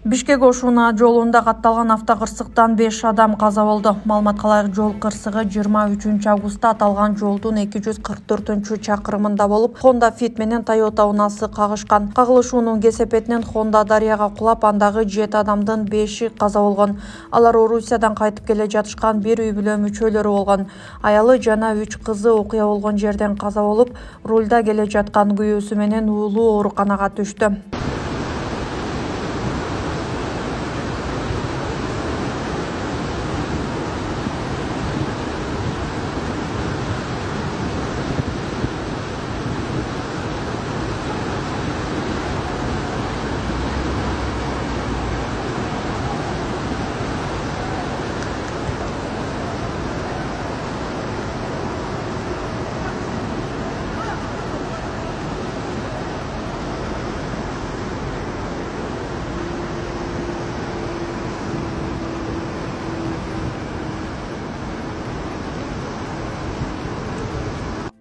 Бишкек Ошуна жолунда катталган автокырсыктан 5 адам каза болду. Маалыматка ылайык, жол кырсыгы 23 августта аталган жолдун 244-чакырымында болуп, Honda Fit менен Toyota унаасы кагышкан. Кагылышуунун кесепетинен Honda дарыяга кулап, андагы 7 адамдын 5и каза болгон. Алар Орусиядан кайтып келе жатышкан бир үй бүлө мүчөлөрү болгон. Аялы жана 3 кызы окуя болгон жерден каза болуп, рулда келе жаткан күйөөсү менен уулу ооруканага түштү.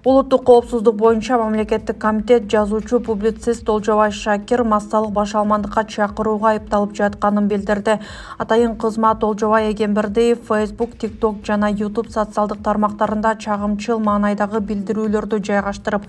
Улуттук коопсуздук боюнча мамлекеттик комитет жазуучу публицист Олжобай Шакир массалык башаламандыкка чакырууга айыпталып жатканын билдирди. Атайын кызмат Олжобай Эгембердиев Facebook, TikTok жана YouTube социалдык тармактарында чагымчыл маанайдагы билдирүүлөрдү жайгаштырып,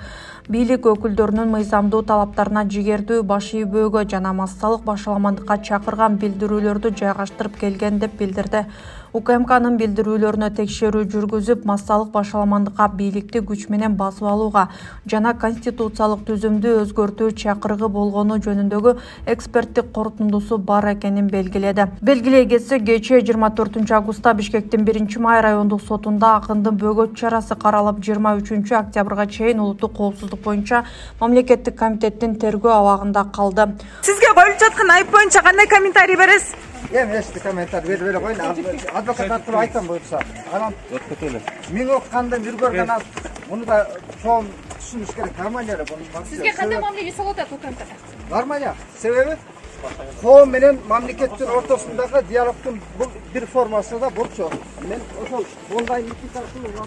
бийлик өкүлдөрүнүн мыйзамдуу талаптарына жигердүү, баш ийбөөгө жана массалык башаламандыкка чакырган билдирүүлөрдү жайгаштырып келген деп билдирди. УКМКнын билдирүүлөрүнө текшерүү жүргүзүп, массалык башаламандыкка бийликти күч менен басып алууга жана конституциялык түзүмдү өзгөртүү чакырыгы болгону жөнүндөгү эксперттик корутундусу бар экенин белгиледи. Белгилей кетсек, кечээ 24 августта Бишкектин 1-Май райондук сотунда акындын бөгөт чарасы каралып, 23 октябрга чейин улуттук коопсуздук боюнча мамлекеттик комитеттин тергөө абагында калды. Сизге коюлуп жаткан айып боюнча кандай комментарий бересиз? Эч комментарий бере коюн. Адвокат аркылуу айтам буюрса. Анан мен окугандан жүргөргөн аз. Муну да чоң түшүнүш керек. Нормально эле буну. Сизге кандай мамиле жасалып атат УКМКда? Нормально. Себеби коом менен мамлекеттин ортосундагы диалогдун бул бир формасы да бурчу. Мен ошол онлайн митинг аркылуу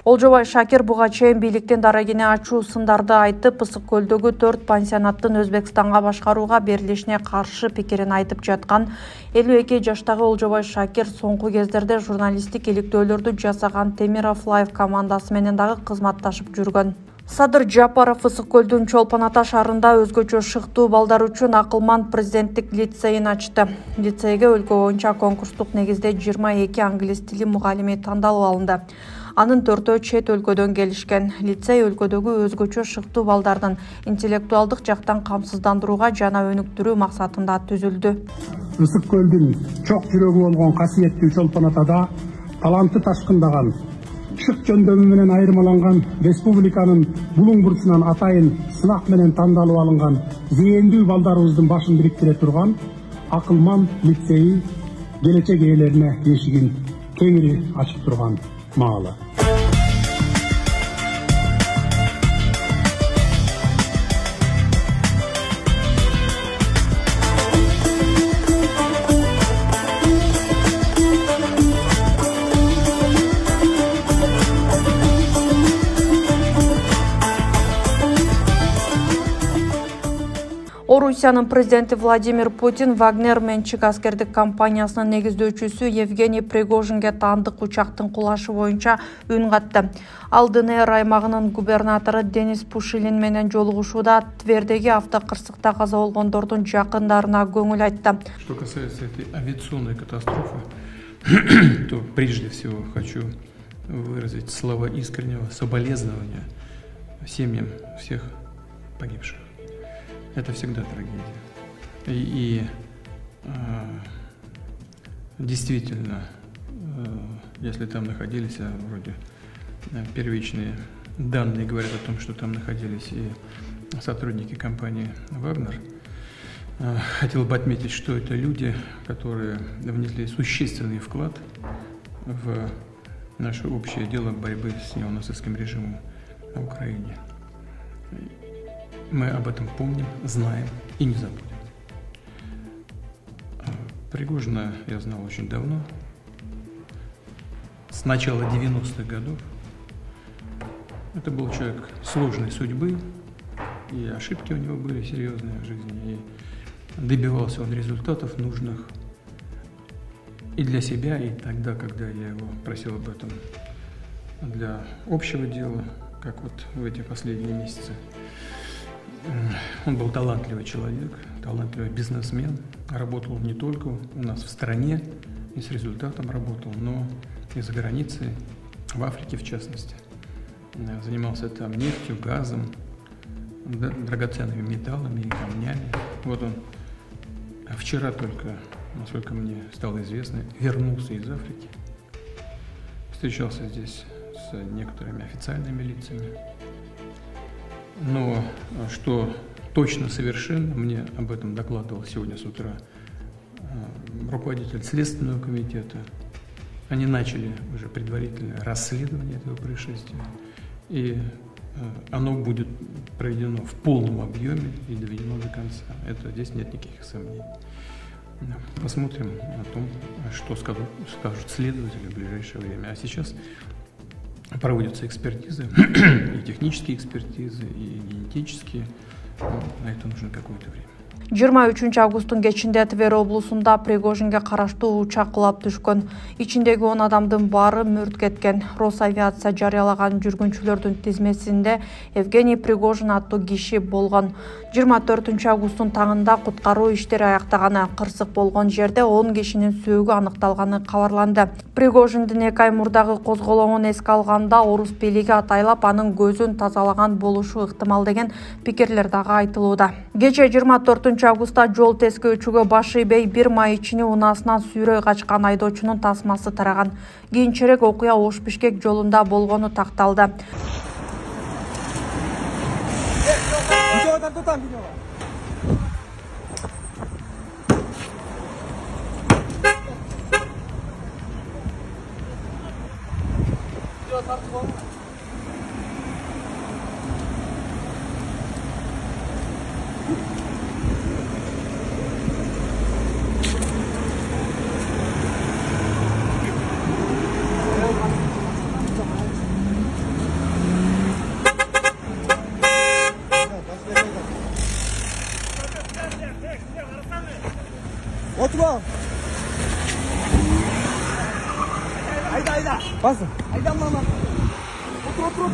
Олжобай Шакир буга чейин бийликтин дарегине ачуу сындарды айтып, Ысык көлдөгү 4 пансионаттын Өзбекстанга башкарууга берилишине каршы пикирин айтып жаткан 52 жаштагы Олжобай Шакир соңку кездерде журналисттик иликтөөлөрдү жасаган Темиров Лайв командасы менен дагы кызматташып жүргөн. Садыр Жапаров Ысык көлдүн Чолпон Ата шаарында өзгөчө шыктуу балдар үчүн акылман президенттик лицейин ачты. Лицейге өлкө боюнча конкурстук негизде 22 англис тили мугалими тандалып алынды. Анын 4-өө чет өлкөдөн келишкен. Лицей өлкөдөгү өзгөчө шыктуу балдардын интеллектуалдык жактан камсыздандырууга жана өнүктүрүү максатында түзүлдү. Ысык көлдүн чок жүрөгү болгон касиеттүү Чолпон Атада таланты ташкындаган, шык жөндөмү менен айырмаланган, республиканын булуң бурчунан атайын сынак менен тандалып алынган зээндүү балдарыбыздын башын бириктире турган акылман лицейи келечек ээлерине эшигин кеңири ачып турган маалы. Орусиянын президенти Владимир Путин Вагнер менчик аскердик компаниясынын негиздөөчүсү Евгений Пригожинге таандык учактын кулашы боюнча үн катты. Ал ДНР аймагынын губернатору Денис Пушилин менен жолугушууда Твердеги автокырсыкта каза болгондордун жакындарына көңүл айтты. Что касается этой авиационной катастрофы, то прежде всего хочу выразить слова искреннего соболезнования семьям всех погибших. Это всегда трагедия. И действительно, если там находились, вроде первичные данные говорят о том, что там находились и сотрудники компании «Вагнер», хотел бы отметить, что это люди, которые внесли существенный вклад в наше общее дело борьбы с неонацистским режимом на Украине. Мы об этом помним, знаем и не забудем. Пригожина я знал очень давно, с начала 90-х годов. Это был человек сложной судьбы, и ошибки у него были серьезные в жизни, и добивался он результатов нужных и для себя, и тогда, когда я его просил об этом для общего дела, как вот в эти последние месяцы. Он был талантливый человек, талантливый бизнесмен, работал не только у нас в стране и с результатом работал, но и за границей, в Африке в частности. Занимался там нефтью, газом, драгоценными металлами и камнями. Вот он вчера только, насколько мне стало известно, вернулся из Африки, встречался здесь с некоторыми официальными лицами. Но что точно совершенно, мне об этом докладывал сегодня с утра руководитель Следственного комитета. Они начали уже предварительное расследование этого происшествия, и оно будет проведено в полном объеме и доведено до конца. Здесь нет никаких сомнений. Посмотрим о том, что скажут следователи в ближайшее время. А сейчас проводятся экспертизы, и технические экспертизы, и генетические. На это нужно какое-то время. 23 августтун кечинде Тver облусунда Пригожинге караштуу учак кулап түшкөн. Ичиндеги 10 адамдын баары мүрт кеткен. Росавиация жарыялаган жүргүнчүлөрдүн тизмесинде Евгений Пригожин аттуу киши болгон. 24 августтун таңында куткаруу иштери аяктаганы, кырсык болгон жерде 10 кишинин сөөгү аныкталганы кабарланды. Пригожиндин 2 ай мурдагы козголоңун эске алганда орус бийлиги атайлап анын көзүн тазалаган болушу ыктымал деген пикирлер дагы айтылууда. Кече 24 августта жол тескөөчүгө баш ийбей 1 маечини унаасынан сүйрөй качкан айдоочунун тасмасы тараган. Кийинчерээк окуя Ош-Бишкек жолунда болгону такталды. Oturma. Ayda. Basın. Ayda mama. Otur.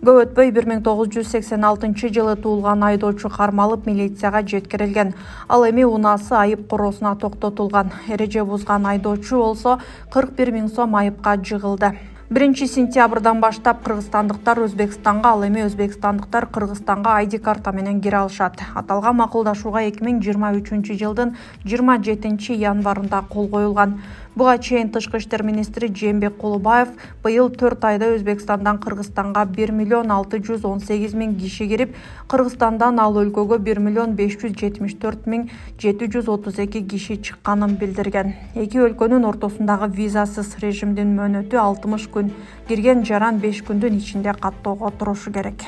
Көп өтпөй 1986 жылы туулган айдоочу кармалып милицияга жеткирилген. Ал эми унаасы айып короосуна токтотулган. Эреже бузган айдоочу болсо 41 000 сом айыпка жыгылды. 1 сентябрдан баштап кыргызстандыктар Өзбекстанга, ал эми өзбекстандыктар Кыргызстанга айди карта менен кире алышат. Аталган макулдашууга 2023 жылдын 27 январында кол коюлган. Буга чейин Тышкы иштер министри Жээнбек Кулубаев быйыл 4 айда Өзбекстандан Кыргызстанга 1 618 000 киши кирип, Кыргызстандан ал өлкөгө 1 574 732 киши чыкканын билдирген. Эки өлкөнүн ортосундагы визасыз режимдин мөөнөтү 60 күн, кирген жаран 5 күндүн ичинде каттоого турушу керек.